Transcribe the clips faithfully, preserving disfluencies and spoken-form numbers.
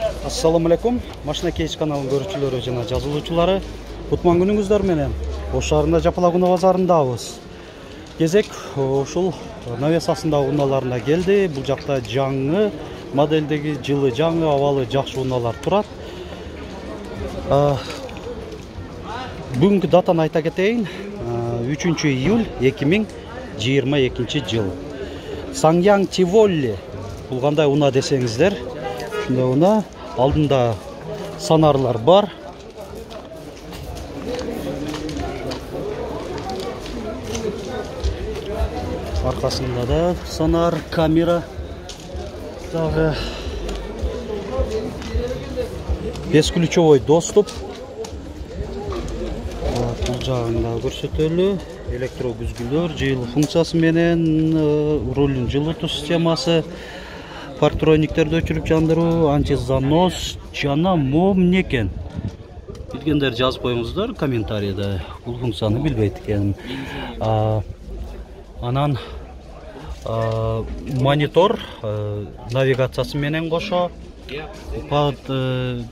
Assalamu alaikum. Машина кейс каналынын көрүүчүлөрү жана жазылуучулары. Кутман күнүңүздөр менен. Ош шаарында Жапалагуна базарындабыз. Кезек ушул навесасындагы унааларына келди. Бул жакта жаңы модельдеги жылы жаңы абалы жакшы унаалар турат. Бүгүнкү датаны айта кетейин. үчүнчү июль эки миң жыйырма экинчи жыл. Саңяң Тиволли. Бул кандай уна десеңиздер. Ушундай уна. Алдында санарлар бар. Аркасында да санар, камера. Дагы бесключевой доступ. Бул жагында көрсөтөлү. Электро күзгүлөр, жылуу функциясы менен, рулдун жылытуу системасы, парктрониктерди өчүрүп жандыруу, антизанос жана мом некен. Билгендер жазып коюңуздар комментарийде. Бул функцияны билбейт экенмин. Анан монитор навигациясы менен кошо,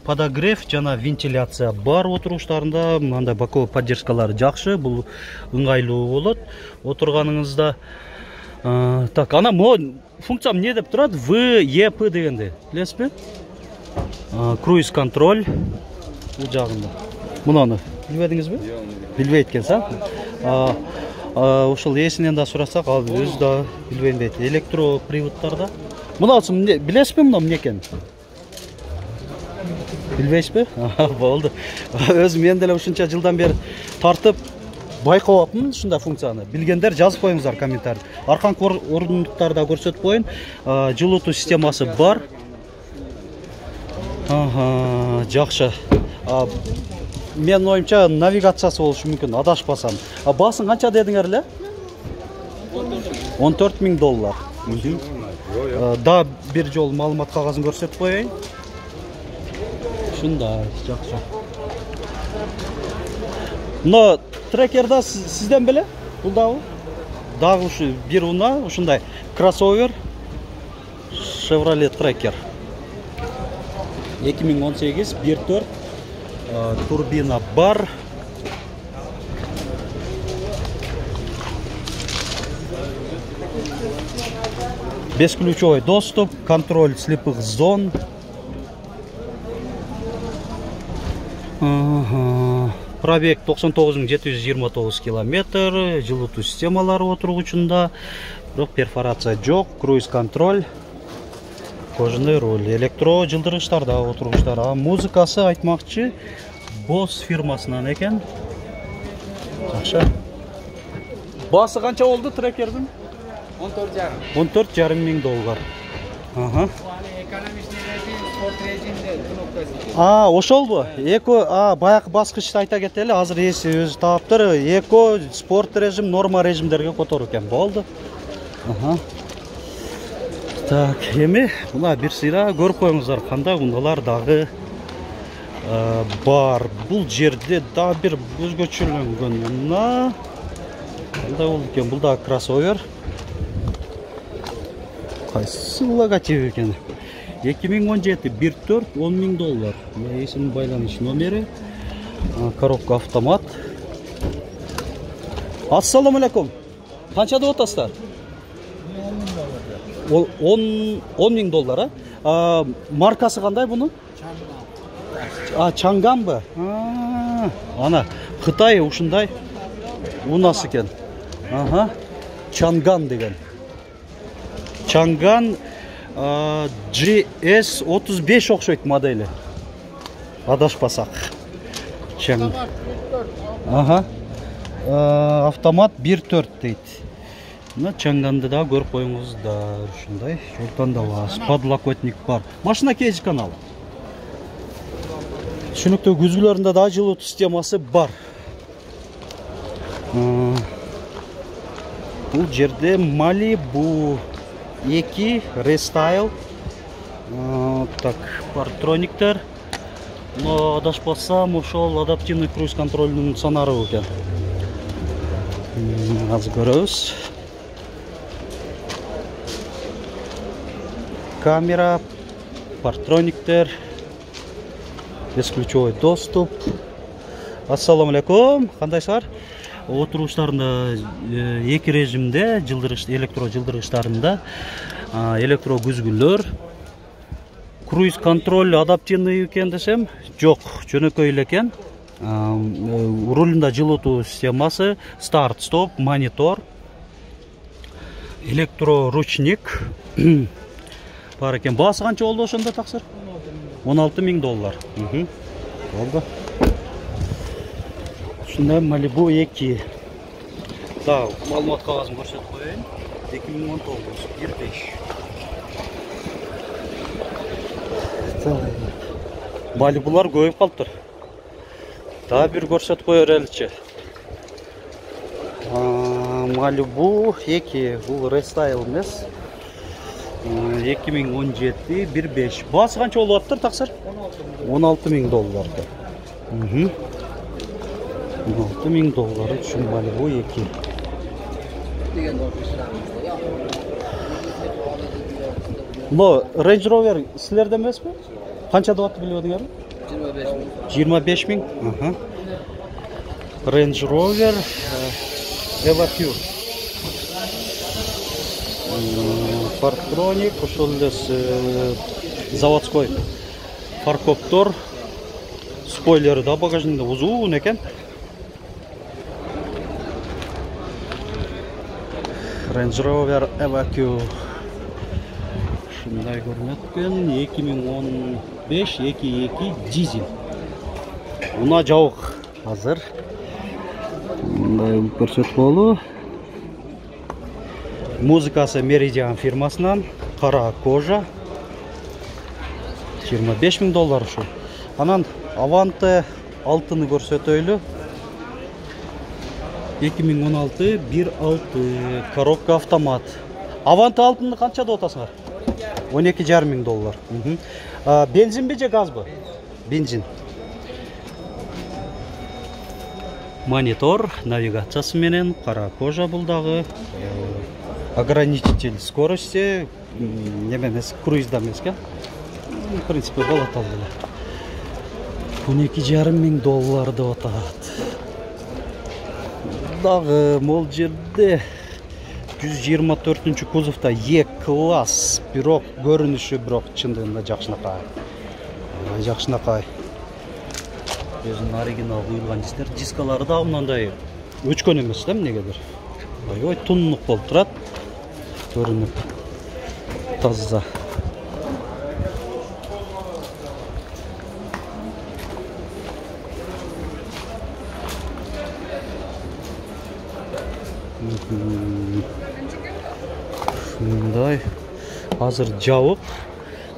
подогрев жана вентиляция бар отуруштарында. Мындай боковой поддержкалары жакшы, бул ыңгайлуу болот отурганыңызда. Так, ана мо функция эмне деп турат? В Е П дегенди. Билесизби? Круиз контроль бул жагында. Мунаны билбедиңизби? Билбейт экенсиң. Ушул эсинен да сурасак, ал өзү да билбейм дейт. Электро приводтарда. Мунасы билесизби муну эмне экен? Билбейсизби? Болду. Өзүм мен деле ушунча жылдан бери тартып байкап атмын ушундай функцияны. Билгендер жазып коюңуздар комментарий. Арканкы орындуктарда көрсөтүп коюн. Жылытуу системасы бар. Ага, жакшы. Мен оюмча навигациясы болушу мүмкүн, адашпасам. Баасын канча дедиңер эле? он төрт миң доллар. Да бир жол маалымат кагазын көрсөтүп коеюн. Ушундай, жакшы. Но трекерда сизден беле? Бул дагы? Дагы ушу бир уна, ушундай кроссовер Chevrolet Tracker. эки миң он сегиз бир төрт турбина бар. Бесключевой доступ, контроль слепых зон. Пробег токсон тогуз миң жети жүз жыйырма тогуз километр, жылытуу системалары отургучунда, бирок перфорация жок, круиз контроль, кожаный руль, электро жылдыргычтарда отургучтар. А музыкасы айтмакчы Bose фирмасынан экен. Жакшы. Баасы канча болду трекердин? он төрт жарым миң доллар. Ага. А, ошолбу? Эко, а, баягы баскычты айта кетели, азыр эси өзү таптыр. Эко, спорт режим, норма режимдерге которуу экен. Болду. Ага. Так, эми мына бир сыйра көрүп коюңуздар, кандай унаалар дагы бар. Бул жерде да бир өзгөчөлөнгөн уна. Кандай болду экен? Бул да кроссовер. Кайсы логотип экен? эки миң он жети бир төрт он миң доллар. Эсинин байланыш номери. Коробка автомат. Ассаламу алейкум. Канча деп атасыздар? он миң доллар, а? Маркасы кандай бунун? А, Чангамбы? Ана, Кытай ушундай унасы экен. Ага. Чанган деген. Чанган G S отуз беш окшойт модели. Адашпасак. Ага. Автомат бир төрт дейт. Мына Чанганды да көрүп коюңуздар. Ушундай жолдон да бар. Подлокотник бар. Машина кейс канал. Түшүнүктүү күзгүлөрүндө да жылытуу системасы бар. Бул жерде Malibu эки рестайл. Так, парктрониктер. Но адашпасам, ошол адаптивный круиз контролдун санары экен. Азыр көрөбүз. Камера, парктрониктер, бесключевой доступ. Ассаламу алейкум, кандайсыздар? Отуруштарында эки режимде, жылдыргыч, электро жылдыргычтарында электро күзгүлөр. Круиз контроль адаптивный экен десем, жок, жөнөкөй эле экен. Рулунда жылытуу системасы, старт, стоп, монитор, электро ручник бар экен. Баасы канча болду ошондо таксыр? он алты миң доллар. Болду. Ушундай Malibu эки. Так, маалымат кагазын көрсөтүп коеюн. эки миң он тогуз, бир беш. Malibu'лар көбөйүп калыптыр. Дагы бир көрсөтүп коер элчи. Malibu эки, бул рестайл эмес. эки миң он жети, бир беш. Баасы канча болуп атыптыр таксыр? он алты миң доллар. он алты миң доллар үчүн Malibu эки. Но Range Rover силерде эмеспи? Канча деп атты билип өдүңөрбү? жыйырма беш миң. Range Rover Evoque. Parktronic, ошол эле заводской фаркоптор. Спойлери да багажникте узун экен. Range Rover Evoque. Шундай көрүнөт экен. эки миң он беш эки эки дизель. Уна жабык азыр. Мындай көрсөтүп болу. Музыкасы Meridian фирмасынан, кара кожа. жыйырма беш миң доллар ушул. Анан Avante алтыны көрсөтөйлү. эки миң он алты, бир алты, коробка автомат. Avante алтыны канча деп атасыңар? он эки жарым миң доллар. Бензинби же газбы? Бензин. Монитор, навигациясы менен, кара кожа бул дагы. Ограничитель скорости, неме эмес, круизда эмес экен. В принципе, болот ал эле. он эки жарым миң доллар деп атат. Дагы могул жерде жүз жыйырма төртүнчү кузовда E-класс, бирок көрүнүшү бирок чындыгында жакшынакай. Жакшынакай. Өзүнүн оригинал куюлган дисктер, дискалары да мындай өчкөн эмес да эмнегедир. Аябай тунук болуп турат. Көрүнүп таза. Мындай азыр жабык.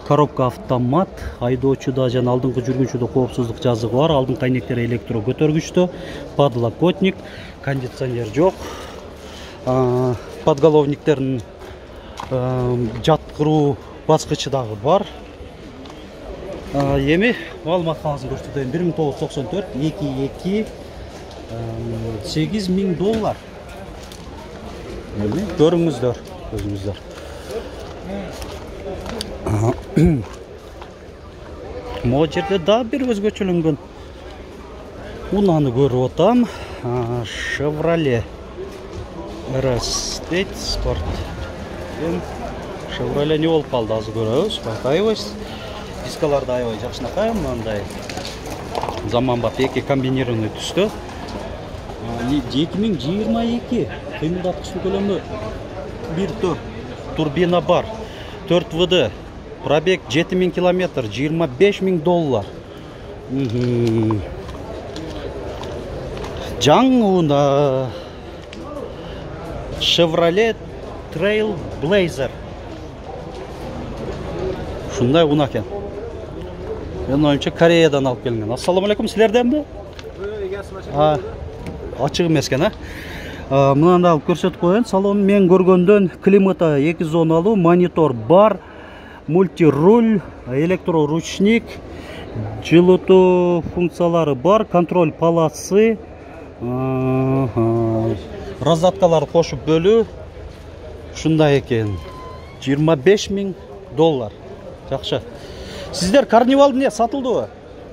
Коробка автомат, айдоочуда жана алдыңкы жүргүнчүдө коопсуздук жазыгы бар. Алдыңкы айнектери электро көтөргүчтө, подлокотник, кондиционер жок. Подголовниктердин жаткыруу баскычы дагы бар. Эми маалымат кагазын көрсөтөйүн. бир миң тогуз жүз токсон төрт, эки эки, сегиз миң доллар. Эми көрүңүздөр, өзүңүздөр. Могу жерде дагы бир өзгөчөлөнгөн унаны көрүп атам. Chevrolet эр эс дейт, спорт. Chevrolet не болуп калды, азыр көрөбүз, байкайбыз. Дискалар да аябай жакшынакай, мындай заманбап эки комбинированный түстө. эки миң жыйырма эки кыймылдаткычтын көлөмү бир төрт, турбина бар, төрт вэ дэ, пробег жети миң километр, жыйырма беш миң доллар. Жаңы Chevrolet Trailblazer. Шундай уна экен. Мен оюмча Кореядан алып келген. Ассаламу алейкум, силерденби? А, ачык эмес экен, а? Мынаны алып көрсөтүп коеюн. Салон мен көргөндөн климата эки зоналуу, монитор бар, мультируль, электроручник, жылытуу функциялары бар, контроль полосы, раздаткаларды кошуп бөлүү. Ушундай экен. жыйырма беш миң доллар. Жакшы. Сиздер карнивал эмне сатылдыбы?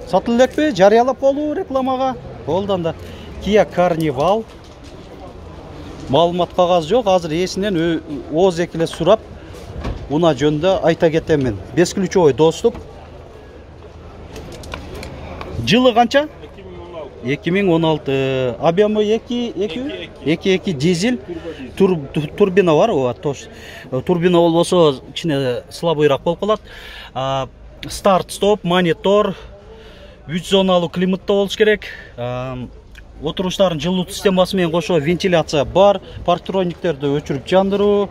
сатылып элекпи? Жарыялап болу рекламага. Болду анда. Kia Carnival. Маалымат кагаз жок. Азыр ээсинен ооз экиле сурап, уна жөнүндө айта кетемин. Бесключовой доступ. Жылы канча? эки миң он алты. Объемы эки эки дизель. Турбина бар, ооба, тош. Турбина болбосо ичине слабыйраак болуп калат. Старт, стоп, монитор, үч зоналуу климатта болуш керек. Отуруштардын жылуу системасы менен кошо вентиляция бар. Парктрониктерди өчүрүп жандыруу,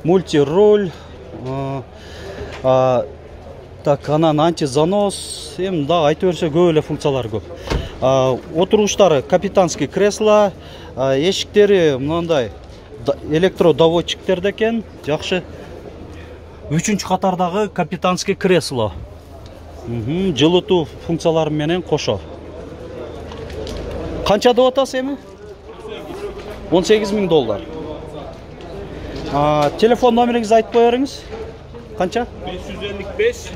мультируль. Так, анан антизанос, эми да айта берсе көп эле функциялары көп. Отуруштары капитанский кресло, эшиктери мындай электродоводчиктер экен, жакшы. Үчүнчү катардагы капитанский кресло. Жылытуу функциялары менен кошо. Канча деп атасыз эми? он сегиз миң доллар. Телефон номериңизди айтып кое бериңиз. Канча?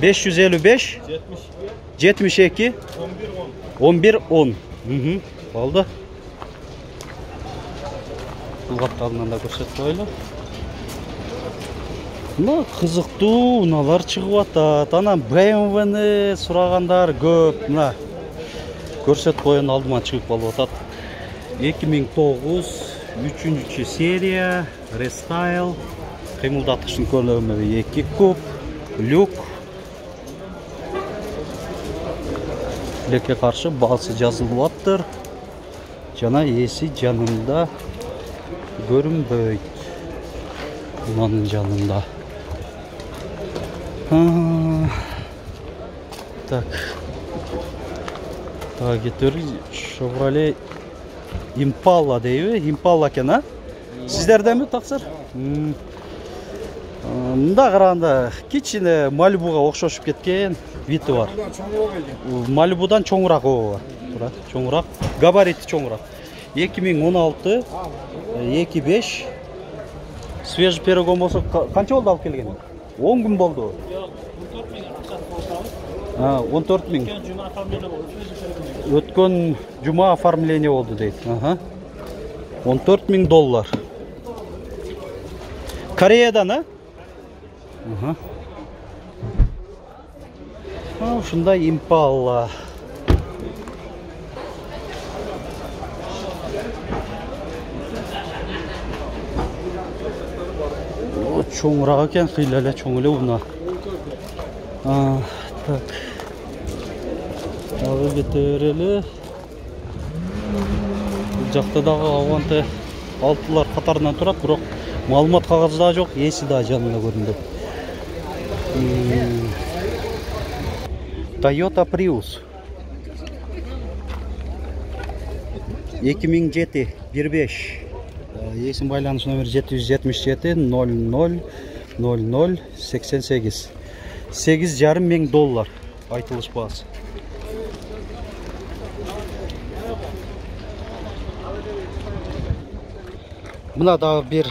беш жүз элүү беш жетимиш эки он бир он. Болду. Бул капталынан да көрсөтүп коелу. Мына кызыктуу унаалар чыгып атат. Анан бэ эм вэ-ни сурагандар көп. Мына көрсөтүп коен алдыма чыгып калып атат. эки миң тогуз үчүнчү серия рестайл. Кыймылдаткычтын көлөмү эки куб, люк. Лекке каршы баасы жазылып аттыр. Жана эси жанында көрүнбөйт. Мунун жанында. Так. Так, кетер. Chevrolet Impala дейби? Impala экен, а? Сиздердеми таксыр? Мында караганда кичине Малибуга окшошуп кеткен вити бар. Малибудан чоңураак, ооба. Тура, чоңураак. Габарити чоңураак. эки миң он алты эки беш. Свежий перегон болсо канча болду алып келген? он күн болду. А, он төрт миң. Өткөн жума оформление болду дейт. Ага. он төрт миң доллар. Кореядан, а? Ага. А, ушундай Impala. О, чоңураак экен, кыйла эле чоң эле уна. А, так. Дагы кетер эле. Бул жакта дагы Avante алтылар катарынан турат, бирок маалымат кагазы да жок, эси да жанында көрүндү. Toyota Prius. эки миң жети бир беш. Эсин байланыш номери жети жүз жетимиш жети ноль ноль ноль ноль сексен сегиз. сегиз жарым миң доллар айтылыш баасы. Мына дагы бир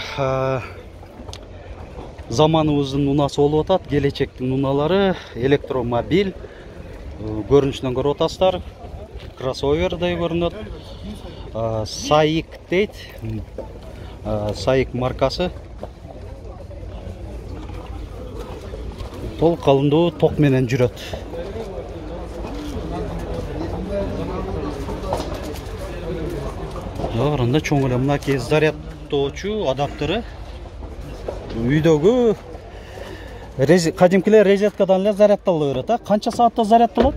заманыбыздын унасы болуп атат, келечектин уналары, электромобиль. Көрүнүшүнөн көрүп атасыздар. Кроссовердей көрүнөт. Сайик дейт. Сайик маркасы. Толук калымдуу ток менен жүрөт. Анда чоң эле мынакей зарядтоочу адаптеры. Үйдөгү кадимкилер розеткадан эле зарядталып берет, а? Канча саатта зарядталат?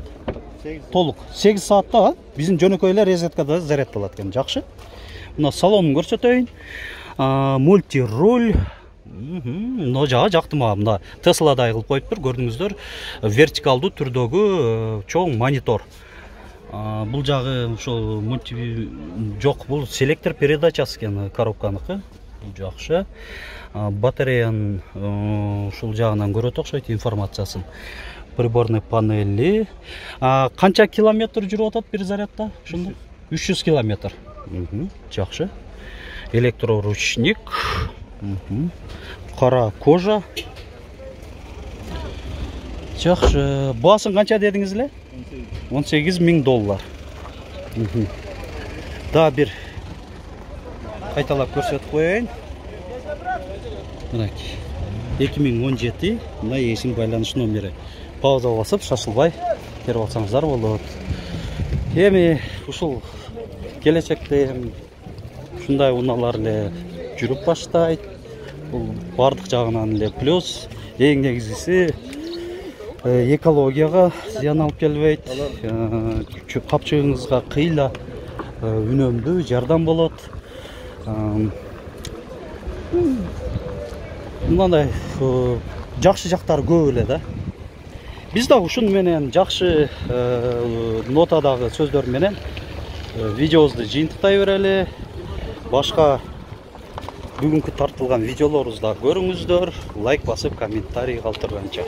Толук. сегиз саатта, а? Биздин жөнөкөй эле розеткада зарядталат экен. Жакшы. Мына салонун көрсөтөйүн. Мультируль. Мына жагы жакты мага. Мына Tesla-дай кылып коюптур, көрдүңүздөр. Вертикалдуу түрдөгү чоң монитор. Бул жагы ошол мульти жок, бул селектор передачасы экен коробканыкы. Бул жакшы. Батареянын ушул жагынан көрөт окшойт информациясын. Приборный панели. Канча километр жүрүп атат бир зарядда? Ушунда үч жүз километр. Жакшы. Электроручник. Кара кожа. Жакшы. Баасын канча дедиңиз эле? он сегиз миң доллар. Да бир кайталап көрсөтүп коеюн. Мынакей. эки миң он жети. Мына эсим байланыш номери. Пауза басып, шашылбай терип алсаңыздар болот. Эми ушул келечекте ушундай унаалар эле жүрүп баштайт. Бул бардык жагынан эле плюс. Эң негизгиси экологияга зыян алып келбейт. Капчыгыңызга кыйла үнөмдүү жардам болот. Мындай жакшы жактары көп эле да. Биз да ушун менен жакшы нотадагы сөздөр менен видеобузду жыйынтыктай берели. Башка бүгүнкү тартылган видеолорубузду көрүңүздөр. Лайк басып, комментарий калтырганча.